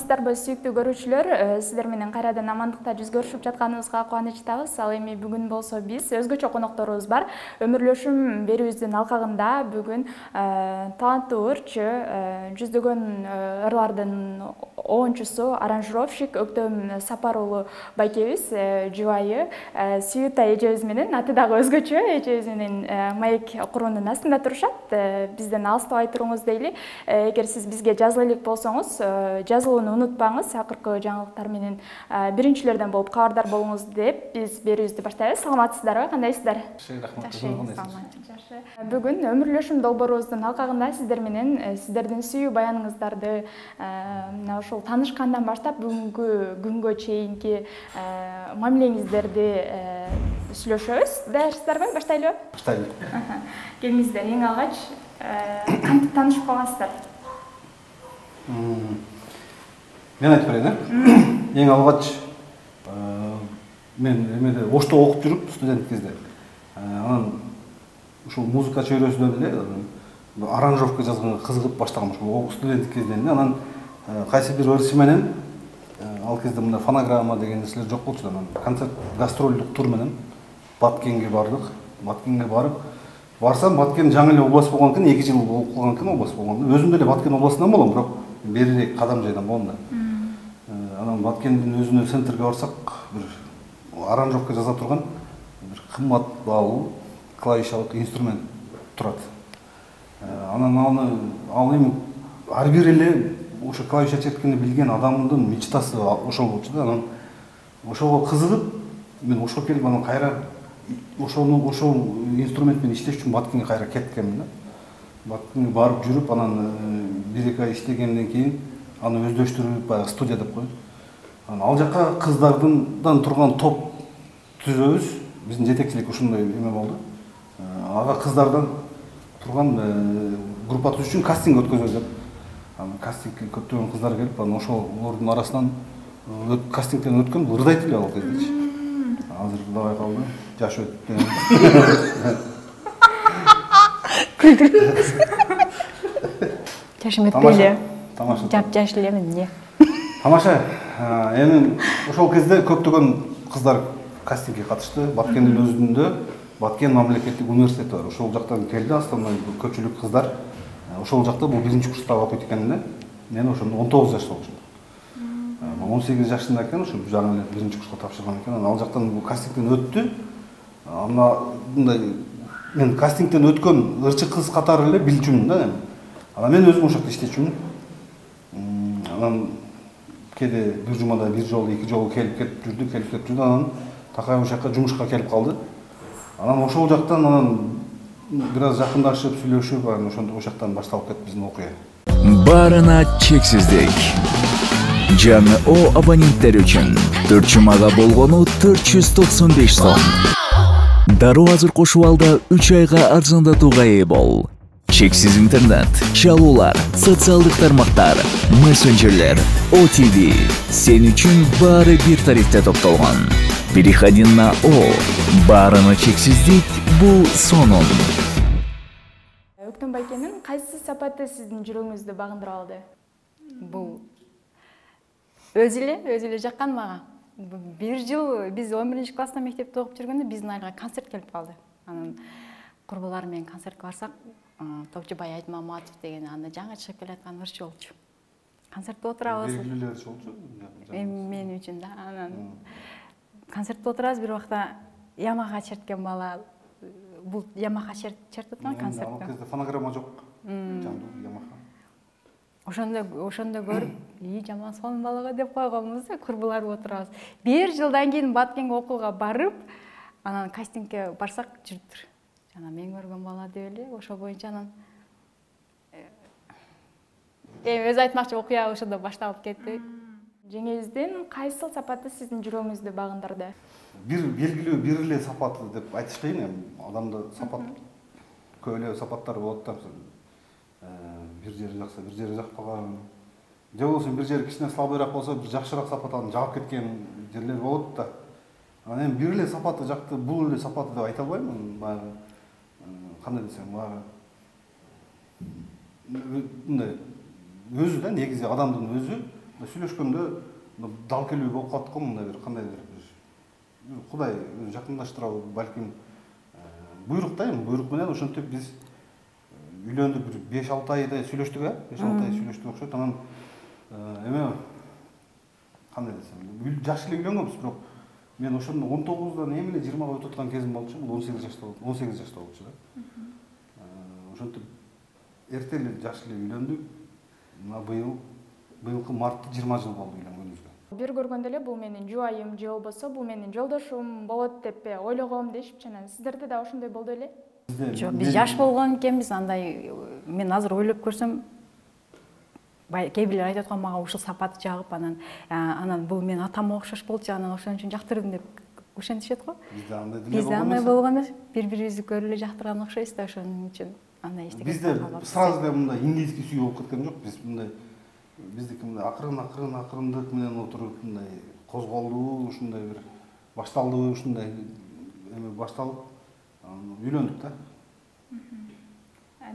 Саламатсыздарбы сүйүктүү көрүүчүлөр, сиздер менен кайрадан амандыкта жүз көрүшүп жатканыбызга кубанычтабыз. Ал эми бүгүн болсо биз өзгөчө конокторубуз бар. Өмүрлөшүм берүүбүздүн алкагында бүгүн таланттуу ырчы, жүздөгөн ырлардын оончусу, аранжировщик Өктөм Сапар уулу байкебиз, жубайы Сүйүта эжебиз менен, аты дагы өзгөчө, эжебиз менен маек куруунун астында турушат. Бизден алыстабай туруңуз дейли. Эгер сиз бизге жазыла элек болсоңуз, жазылууну унутпаңыз. Акыркы жаңылыктар менен биринчилерден болуп кабардар болуңуз деп биз берүүбүздү баштайбыз. Саламатсыздарбы? Кандайсыздар? Жакшы. Бүгүн өмүрлөшүм долбоорубуздун алкагында сиздер менен сиздердин сүйүү баяныңыздарды мына ушул таанышкандан баштап бүгүнкү күнгө чейинки мамилеңиздерди сүйлөшөбүз. Даярсыздарбы? Баштайлыбы? Баштайлы. Келиңиздер, эң алгач кантип таанышып калгансыздар? Мен айтып берейин. Эң алгач мен эмеде Ошто окуп жүрүп, студент кезде. Анан ушул музыка чөйрөсүнөн эле аранжировка жазганга кызыгып баштагам ушул студенттик кезден. Анан кайсы бир ырчы менен ал кезде мындай фонограмма деген нерселер жок болчу. Анан концерт гастролдук тур менен Баткенге бардык. Баткенге барсам, Баткен жаңы эле область болгон экен, 2 жыл болуп калган экен область болгондо. Өзүм деле Баткен областынан болом, бирок берирээк кадам жайдан болом да. Анан Баткендин өзүнө центрге барсак, бир аранжировка жаза турган бир кымбат баалуу клавишалык инструмент турат. Анан ал эми ар бир эле ошо клавиша черткенди билген адамдын мечтасы ошол болчу да. Анан ошого кызыгып, мен ошо келип анан кайра ошол инструмент менен иштеш үчүн Баткенге кайра кеткенмин да. Баткенге барып жүрүп, анан 1-2 ай иштегенден кийин аны өздөштүрүп, баягы студия деп коет. Анан ал жака кыздардан турган топ түзөбүз. Биздин жетекчилик ушундай эме болду. Ага кыздардан турган группа түзүш үчүн кастинг өткөзөбүз деп. Анан кастингке көптөгөн кыздар келип, анан ошолордун арасынан кастингден өткөн ырдайт эле ал кездечи. Азыр ырдабай калды. Жаш өтүп. Күлдүрүңүз. Жашым өтпөйлү. Тамаша. Жап-жаш элемин, эмне? Тамаша. Эми ошол кезде көптөгөн кыздар кастингге катышты. Баткендин өзүндө Баткен мамлекеттик университети бар. Ошол жактан келди, основной көпчүлүк кыздар. Ошол жакта бул 1-чи курста окуйт экен да. Мен ошондо 19 жашта болчумун. 18 жашында экен, ошо жаңы эле 1-чи курска тапшырган экен. Ал жактан бул кастингден өттү. Мындай мен кастингден өткөн ырчы кыз катары эле билчүмүн да. Анан мен өзүм ошол жакта иштечүмүн. Анан кээде бир жумада 1 жолу 2 жолу келип жүрдү. Анан такай ошол жака жумушка келип калды. Анан ошол жактан бир аз жакындашып, сүйлөшүп, анан ошол жактан башталып кетти биздин окуя. Баарына чексиздик. Жаңы абоненттер үчүн 4 жумага болгону 495 сом. Дароо азыр кошуп алда 3 айга арзандатууга ээ бол. Чексиз интернет, чалуулар, социалдык тармактар, мессенджерлер, OTV. Сен үчүн баары бир тарифте топтолгон. Переходи на Баарына чексиздик бул сонун. Өктөм байкенин кайсы сапаты сиздин жүрөгүңүздү багындырып алды? Бул өзү эле жаккан мага. 1 жыл биз 11-чи класста мектепте окуп жүргөндө биздин айылга концерт келип калды. Анан курбулар менен концертке барсак, Топчубай Айтмаматов деген анда жаңы чыгып келаткан ырчы болчу. Концертте отурабыз. Белгилүү ырчы болчу. Мен үчүн да. Анан концертте отурабыз, бир убакта Ямаха черткен бала. Бул Ямаха чертип аткан концертте. Ал кезде фонограмма жок. Жандуу Ямаха. Ошондо көрүп, жаман сонун балага деп койгонбуз, курбулар отурабыз. 1 жылдан кийин Баткенге окууга барып, анан кастингге барсак жүрүптүр. Жана мен көргөн бала деп эле, ошо боюнча анан өзү айтмакчы окуя ошондо башталып кетти. Жеңеңиздин кайсыл сапаты сиздин жүрөгүңүздү багындырды? Бир белгилүү бир эле сапаты деп айтыш кыйын эми. Адамда сапат көп эле сапаттар болот да. Бир жери жакса, бир жери жакпаган. Же болбосо бир жери кичине слабыйраак болсо, бир жакшыраак сапат анын жагып кеткен жерлер болот да. Анан эми бир эле сапаты жакты, бул эле сапаты деп айта албайм. Баягы кандай десем, баягы мындай өзү да негизи адамдын өзү сүйлөшкөндө дал келүү болуп калат го, мындай бир кандайдыр бир Кудай жакындаштырабы, балким буйрук да, эми буйрук менен ошентип биз үйлөндүк, бир 5-6 айдай сүйлөштүк, 5-6 ай сүйлөштүк окшойт. Анан эме кандай десем, жакшы эле үйлөнгөнбүз, бирок мен ошондо 19-дан эми эле 20-га өтүп аткан кезим болчу, бул 18 жашта болчу да. Ошентип эрте эле жакшы эле үйлөндүк. Мына быйылкы мартта 20 жыл болду үйлөнгөнүбүзгө. Бир көргөндө эле бул менин жубайым же болбосо бул менин жолдошум болот деп ойлогом дешипчи. Анан сиздерде да ошондой болду эле? Жок, биз жаш болгон экенбиз, андай мен азыр ойлоп көрсөм, кээ бирлер айтып аткан мага ушул сапаты жагып, анан бул мен атама окшош болчу, анан ошон үчүн жактырдым деп ошентишет го. Бизде андай болгон эмес. Бири-бирибизди көрүп эле жактырган окшойбуз да, ошон үчүн андай эчтеке. Бизде сразу эле мындай индийский сүй болуп кеткен жок. Биз мындай биздики мындай акырындык менен отуруп мындай козголдуу, ушундай бир башталдыбы, ушундай эме башталып үйлөндүк да.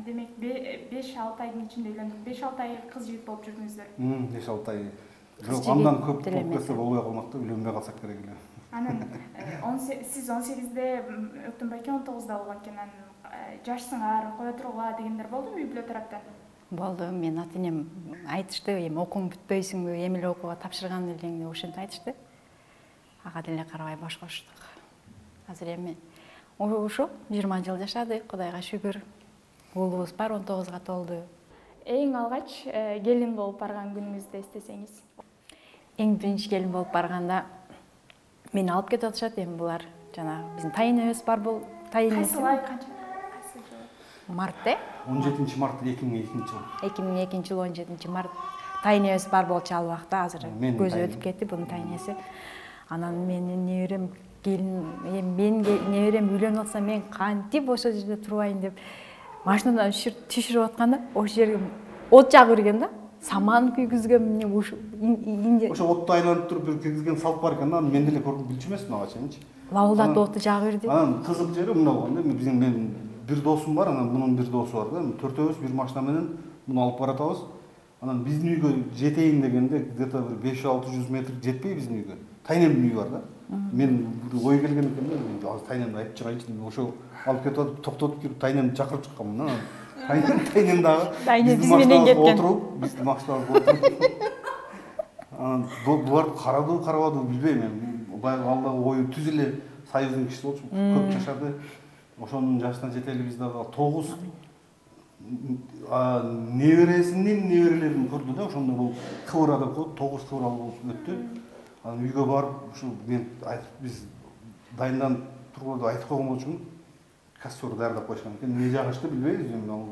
Демек 5-6 айдын ичинде үйлөндүк. 5-6 ай кыз жигит болуп жүрдүңүздөр. 5-6 ай. Бирок андан көп болуп кетсе болбой калмак да, үйлөнбөй калсак керек эле. Анан сиз 18-де өттүм байке 19-да болгон экен. Анан жашсыңар, кое тургула дегендер болдубу үй бүлө тараптан? Болду. Мен ата-энем айтышты, эми окууң бүтпөйсүңбү, эми эле окууга тапшырган элең деп ошентип айтышты. Ага деле карабай баш коштук. Азыр эми ошо 20 жыл жашадык, Кудайга шүгүр. Уулубуз бар, 19-га толду. Эң алгач келин болуп барган күнүңүздү эстесеңиз? Эң биринчи келин болуп барганда мени алып кетип атышат, эми булар жанагы биздин тайыныбыз бар, бул тайыныбыз. Кайсы ай канча? Кайсы жыл? Мартта? 17 март 2002 жыл. 2002 жыл 17 март. Тайыныбыз бар болчу ал убакта, азыр көзү өтүп кетти бунун тайынысы. Анан менин неберем келин, мен неберем үйлөнүп атса мен кантип ошол жерде турбайын деп машинадан түшүрүп атканда, ошол жерге от жагып берген да. Саман күйгүзгөн ошо отту айланып туруп бир киргизген салт бар экен да, мен деле көрүп билчү эмесмин ага чейинчи. Лавылдатып отту жагып берди. Анан кызык жери мындай болгон да, мен бир досум бар, анан мунун бир досу бар да. Төртөөбүз бир машина менен муну алып баратабыз. Анан биздин үйгө жетейин дегенде где-то бир 500-600 метр жетпей биздин үйгө. Тайнемдин үйү бар да. Мен бир ой келген экен да, азыр тайнемди айтып чыгайынчы деп ошол алып кетип атып, токтотуп кирип тайнемди чакырып чыкканмын да. Тайнем дагы биз менен кеткен. Биздин машинабызга отуруп. Анан булар карадыбы, карабадыбы билбейм мен. Баягы алдагы ою түз эле союздун кишиси болчу, көп жашады. Ошонун жашына жете эле биз дагы 9 небересинин неберелерин көрдү да. Ошондо бул кыбыра деп коет, 9 кыбыралы болуп өттү. Анан үйгө барып ушу мен айтып биз дайынданып турганда айтып койгон болчумун. Костер даярдап коюшкан экен. Эмне жагышты билбейбиз эми ал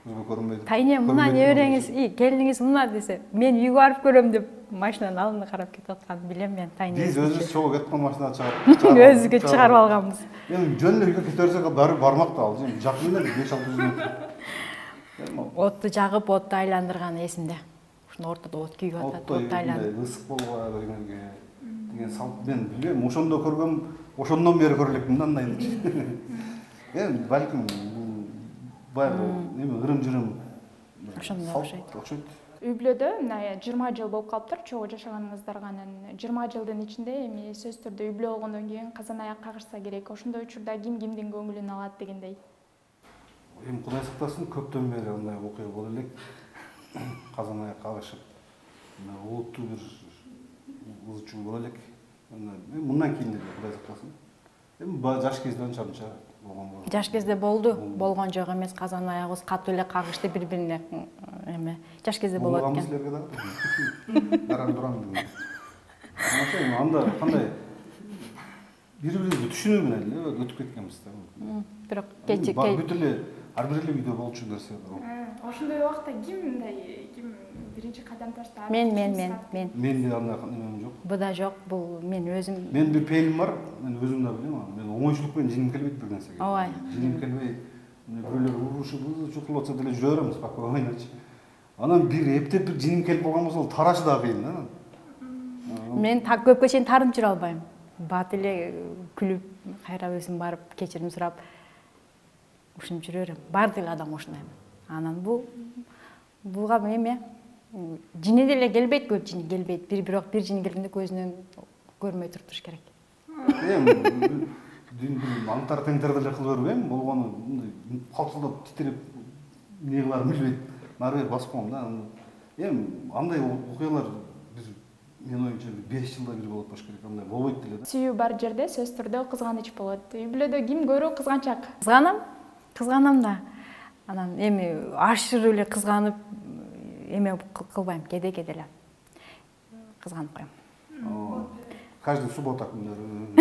көзгө көрүнбөйт. Тайнем мына небереңиз, келиниңиз мына десе, мен үйгө барып көрөм деп машинанын алдына карап кетип атканын билем мен. Тайнем. Биз өзүбүз чогуу кеткен машинаны чыгарып өзүгө чыгарып алганбыз. Эми жөн эле үйгө кете берсек бармак да ал. Жакын эле 500-600 метр. Отту жагып, отту айландырган эсимде. Ушуну ортодо от күйүп атат, отту айландырып. Ысык болбой деген салт мен билбейм. Ошондо көргөм, ошондон бери көрө элекмин да андайын. Эми балким баягы эме ырым-жырым ошондой окшойт. Үй бүлөдө мына 20 жыл болуп калыптыр чогуу жашаганыңыздарга. Анан 20 жылдын ичинде эми сөзсүз түрдө үй бүлө болгондон кийин казан аяк кагышса керек. Ошондой учурда ким кимдин көңүлүн алат дегендей. Эми Кудай сактасын, көптөн бери андай окуя боло элек. Казан аяк кагышып, улуттуу бир ызчуу боло элек. Мындан кийин деле Кудай сактасын. Эми жаш кезде анча-мынча болгон болду. Жаш кезде болду, болгон жок эмес, казан аягыбыз катуу эле кагышты бири-бирине. Эме жаш кезде болот экен. Силерге дагы. Даран турам. Анда кандай бири-бирибизди түшүнүү менен эле өтүп кеткенбиз да. Бирок кечи бүт эле ар бир эле үйдө болчу нерсе. Ошондой убакта ким биринчи кадам таштап? Мен. Менде андай эмем жок. Буда жок, бул мен өзүм. Мен бир пейилим бар, мен өзүм да билем. Мен оңойчулук менен жиним келбейт бир нерсеге. Ооба. Жиним келбей, бирөөлөр урушуп, чукулуп атса деле жүрө берем, спокойночу. Анан бир эптеп бир жиним келип калган болсо, тарашы да кыйын да. Мен так көпкө чейин тарынып жүрө албайм. Бат эле күлүп, кайра өзүм барып кечирим сурап ушинтип жүрө берем. Бардык адам ушундай. Анан буга эме Жини деле келбейт, көп жини келбейт. Бирок бир жини келгенде көзүнөн көрмөй туруп туруш керек. Аңтар теңтер деле кылып бербейм, болгону мындай калчылдап титиреп эмне кыларын билбейт. Нары бери басып коем да. Андай окуялар биз менин оюмча 5 жылда бир болот болуш керек. Андай болбойт деле да. Сүйүү бар жерде сөзсүз түрдө кызганыч болот. Үй бүлөдө ким көрүү кызганчак? Кызганам да. Анан эми ашырып эле кызганып эме кылбайм, кеде-кеде эле кызганып коем. Каждый суббота күндөрү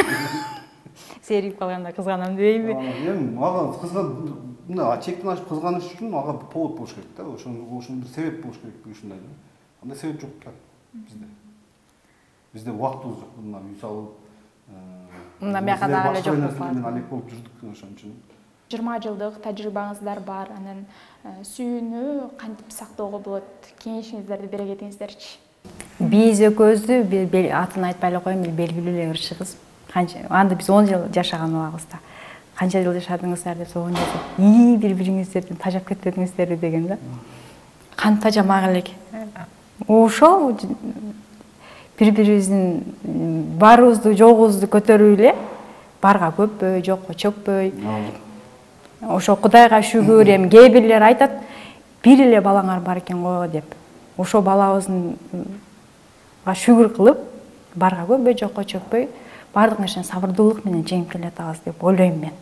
Серип калганда кызганам дебейби? Ага мына чектен ашып кызганыш үчүн ага повод болуш керек да. Ошондо бир себеп болуш керек ушундай. Андай себеп жок да бизде. Бизде убактыбыз жок. Мына үй салып, мына бияка дагы эле жок болуп калат. Мен алек болуп жүрдүк ошон үчүн. 20 жылдык тажрыйбаңыздар бар. Анан сүйүүнү кантип сактоого болот? Кеңешиңиздерди бере кетиңиздерчи. Биз экөөбүздү атын айтпай эле коеюн, белгилүү эле ырчыбыз. Анда биз 10 жыл жашаган убагыбызда. Канча жыл жашадыңыздар деп согон жазып, бири-бириңиздерден тажап кетпедиңиздерби деген да. Кантип тажамак элек. Ошол бири-бирибиздин барыбызды, жогубузду көтөрүп эле барга көппөй, жокко чөкпөй. Ошо Кудайга шүгүр, эми кээ бирлер айтат, бир эле балаңар бар экен го деп. Ошо балабыздын шүгүр кылып, барга көппөй, жокко чөкпөй, бардык нерсени сабырдуулук менен жеңип келатабыз деп ойлойм мен.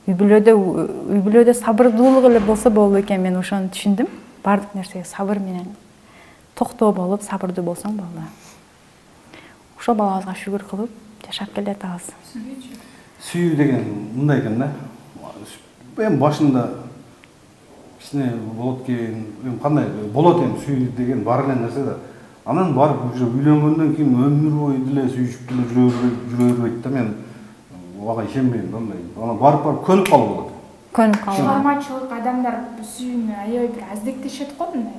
Үй бүлөдө сабырдуулук эле болсо болду экен, мен ошону түшүндүм. Бардык нерсеге сабыр менен токтоо болуп, сабырдуу болсоң болду. Ошо балабызга шүгүр кылып жашап келатабыз. Сүйүү деген мындай экен да. Эми башында кичине болот экен, кандай болот эми сүйүү деген бар эле нерсе да. Анан барып уже үйлөнгөндөн кийин өмүр бою деле сүйүшүп деле жүрө бербейт да. Мен ага ишенбейм да андай. Анан барып көнүп калып болот. Көнүп калып. Чыгармачылык адамдар сүйүүнү аябай бир аздектешет го мындай.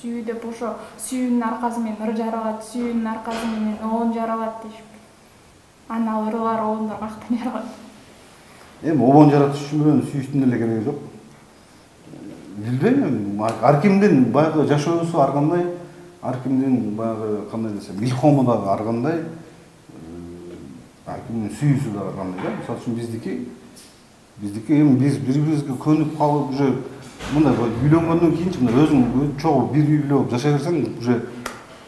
Сүйүү деп ошо сүйүүнүн аркасы менен ыр жаралат, сүйүүнүн аркасы менен оон жаралат дешип. Анан ырылар, оондар каяктан жаралат? Эми обон жаратыш үчүн сүйүштүн эле кереги жок. Билбейм, ар кимдин баягы жашоосу ар кандай, ар кимдин баягы кандай десем, илхому дагы ар кандай, ар кимдин сүйүүсү дагы ар кандай да. Мисалы үчүн биздики эми биз бири-бирибизге көнүп калып уже мындай үйлөнгөндөн кийинчи мына өзүң чогуу бир үй бүлө болуп жашай берсең уже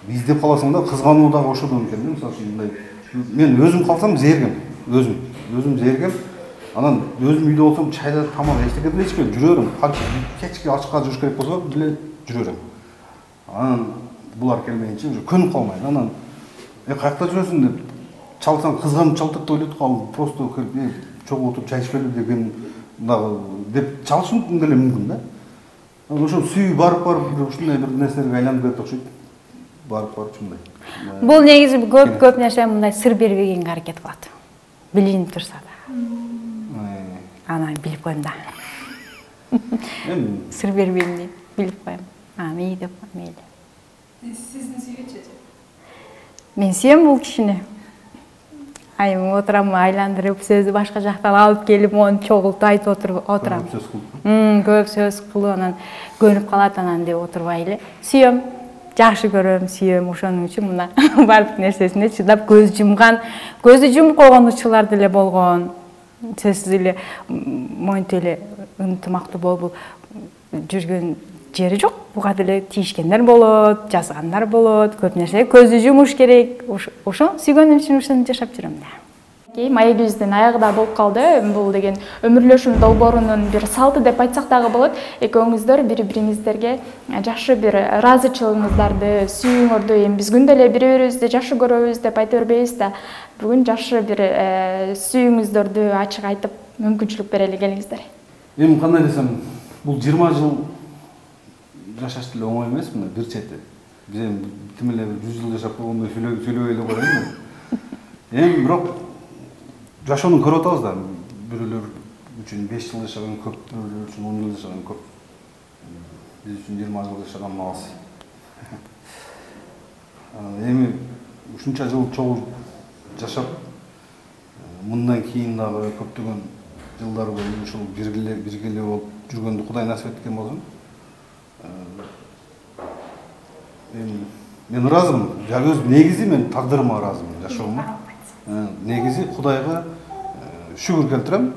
издеп каласың да, кызгануу дагы ошодон экен да. Мисалы үчүн мындай мен өзүм калсам зергем, өзүм зергем. Анан өзүм үйдө болсом чайда тамак эчтеке деле ичпейм, жүрө берем. Канча кечке ачыкка жүрүш керек болсо деле жүрө берем. Анан булар келмейинче уже көнүп калмайм. Анан каякта жүрөсүң деп чалсаң кызганып чалтырып ойлойт го, просто келип чогуу отуруп чай ичпели деген дагы деп чалышы деле мүмкүн да. Ошо сүйүү барып ушундай бир нерселерге айланып кетет окшойт. Барып ушундай. Бул негизи көп нерсе мындай сыр бербегенге аракет кылат. Билинип турса да. Анан билип коем да. Сыр бербейм дейт, билип коем. Мейли деп, мейли. Сиздин сүйүүчү? Мен сүйөм бул кишини. Айым отурам, айландырып, сөздү башка жактан алып келип, мону чогултуп айтып отурам. Көп сөз кылып, анан көнүп калат, анан деп отурбай эле. Сүйөм, жакшы көрөм, сүйөм, ошонун үчүн мына бардык нерсесине чыдап көздү жумуп койгон учурлар деле болгон. Сөзсүз эле монтип эле ынтымактуу болуп жүргөн жери жок. Буга деле тийишкендер болот, жазгандар болот, көп нерсе көздү жумуш керек. Ошо сүйгөнүм үчүн ошону жашап жүрөм да. Маегибиздин аягында болуп калды. Бул деген өмүрлөшүм долбоорунун бир салты деп айтсак дагы болот. Экөөңүздөр бири-бириңиздерге жакшы бир ыраазычылыгыңыздарды, сүйүүңөрдү эми биз күндө эле бири-бирибизди жакшы көрөбүз деп айта бербейбиз да. Бүгүн жакшы бир сүйүүңүздөрдү ачык айтып, мүмкүнчүлүк берели келиңиздер. Эми кандай десем, бул 20 жыл жашаш деле оңой эмес, мына бир чети. Биз эми тим эле 100 жыл жашап койгондой сүйлөбөй эле коелу. Эми бирок жашоону көрүп атабыз да. Бирөөлөр үчүн 5 жыл жашаган көп, бирөөлөр үчүн 10 жыл жашаган көп. Биз үчүн 20 жыл жашаган аз. Эми ушунча жыл чогуу жашап, мындан кийин дагы көптөгөн жылдар бою ушул биргеле болуп жүргөндү Кудай насип эткен болсун. мен ыраазымын. Өз негизи мен тагдырыма ыраазымын, жашоомо. Негизи Кудайга шүгүр келтирем.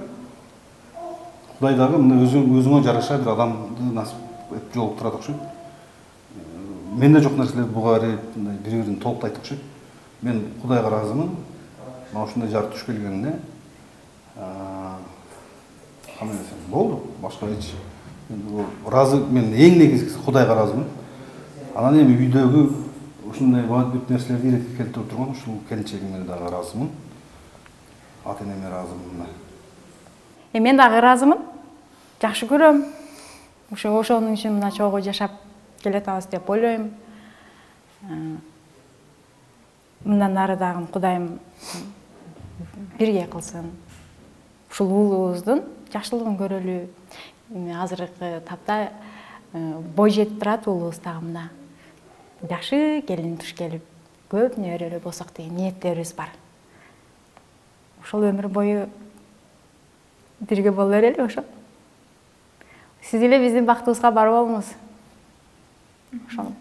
Кудай дагы мына өзүңө жараша бир адамды насип этип жолуктурат окшойт. Менде жок нерселерди буга бири-бирин толуктайт окшойт. Мен Кудайга ыраазымын. Мына ушундай жар туш келгенине. Кандай десем болду, башка эч. Ыраазы, мен эң негизгиси Кудайга ыраазымын. Анан эми үйдөгү ушундай бүт нерселерди иретке келтирип турган ушул келинчегиме дагы ыраазымын. Ата-энеме ыраазымын. Мен дагы ыраазымын. Жакшы көрөм. Ошонун үчүн мына чогуу жашап келатабыз деп ойлойм. Мындан ары дагы Кудайым бирге кылсын. Ушул уулубуздун жакшылыгын көрөлү. Азыркы тапта бой жетип турат уулубуз дагы мына. Жакшы келин туш келип, көп неберелүү болсок деген ниеттерибиз бар. Ошол өмүр бою бирге боло берели ошо. Сиз эле биздин бактыбызга бар болуңуз. Ошол.